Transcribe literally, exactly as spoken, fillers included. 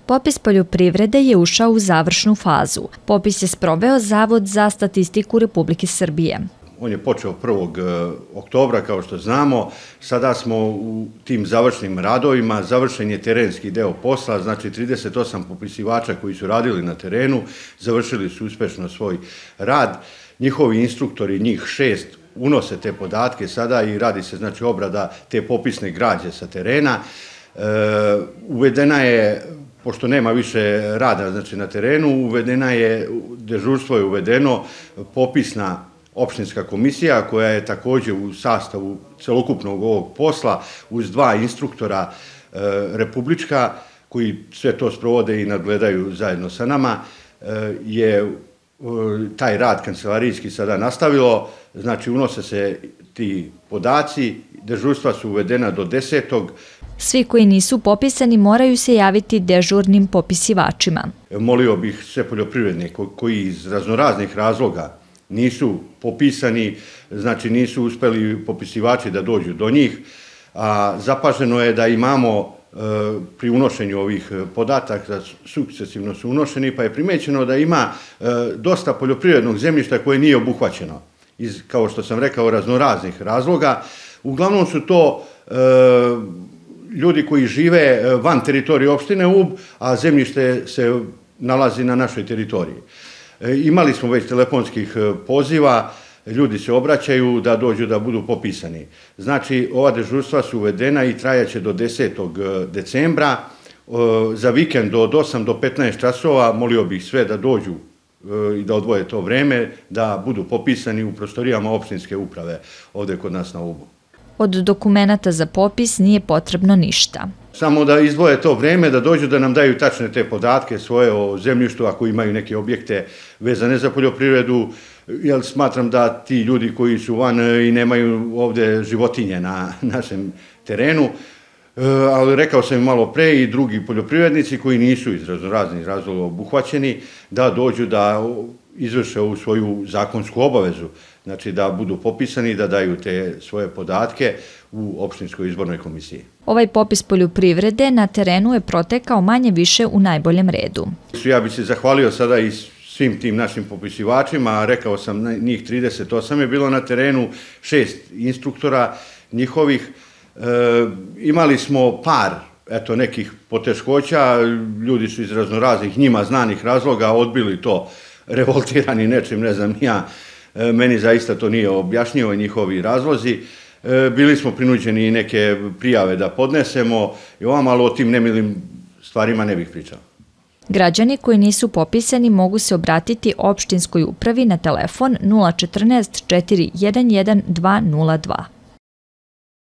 Popis poljoprivrede je ušao u završnu fazu. Popis je sproveo Zavod za statistiku Republike Srbije. On je počeo prvog oktobra, kao što znamo. Sada smo u tim završnim radovima, završen je terenski deo posla, znači trideset osam popisivača koji su radili na terenu, završili su uspešno svoj rad. Njihovi instruktori, njih šest, unose te podatke sada i radi se znači obrada te popisne građe sa terena. E, uvedena je, pošto nema više rada znači na terenu, uvedena je, dežurstvo je uvedeno, popisna opštinska komisija koja je također u sastavu celokupnog ovog posla uz dva instruktora e, republička koji sve to sprovode i nadgledaju zajedno sa nama, e, je e, taj rad kancelarijski sada nastavilo, znači unose se ti podaci, dežurstva su uvedena do desetog. Svi koji nisu popisani moraju se javiti dežurnim popisivačima. Molio bih sve poljoprivrednike koji iz raznoraznih razloga nisu popisani, znači nisu uspeli popisivači da dođu do njih, a zapaženo je da imamo e, pri unošenju ovih podataka, sukcesivno su unošeni, pa je primećeno da ima e, dosta poljoprivrednog zemljišta koje nije obuhvaćeno, iz, kao što sam rekao, raznoraznih razloga. Uglavnom su to e, ljudi koji žive van teritorije opštine Ub, a zemljište se nalazi na našoj teritoriji. Imali smo već telefonskih poziva, ljudi se obraćaju da dođu da budu popisani. Znači, ova dežurstva su uvedena i trajaće do desetog decembra. Za vikend od osam do petnaest časova molio bih sve da dođu i da odvoje to vreme, da budu popisani u prostorijama opštinske uprave ovdje kod nas na Ubu. Od dokumenata za popis nije potrebno ništa. Samo da izdvoje to vreme, da dođu da nam daju tačne te podatke svoje o zemljištu, ako imaju neke objekte vezane za poljoprivredu, jer smatram da ti ljudi koji su van i nemaju ovdje životinje na našem terenu, ali rekao sam im malo pre i drugi poljoprivrednici koji nisu iz raznih razloga obuhvaćeni, da dođu da izvrše ovu svoju zakonsku obavezu, znači da budu popisani i da daju te svoje podatke u opštinskoj izbornoj komisiji. Ovaj popis poljoprivrede na terenu je protekao manje više u najboljem redu. Ja bih se zahvalio sada i svim tim našim popisivačima, rekao sam njih trideset osam je bilo na terenu, šest instruktora njihovih. E, imali smo par eto, nekih poteškoća, ljudi su iz raznoraznih njima znanih razloga odbili to, revoltirani nečim, ne znam ja, meni zaista to nije objašnjivo njihovi razlozi. Bili smo prinuđeni neke prijave da podnesemo i ovam, ali o tim nemilim stvarima ne bih pričao. Građani koji nisu popisani mogu se obratiti opštinskoj upravi na telefon nula četrnaest četiri jedan jedan dva nula dva.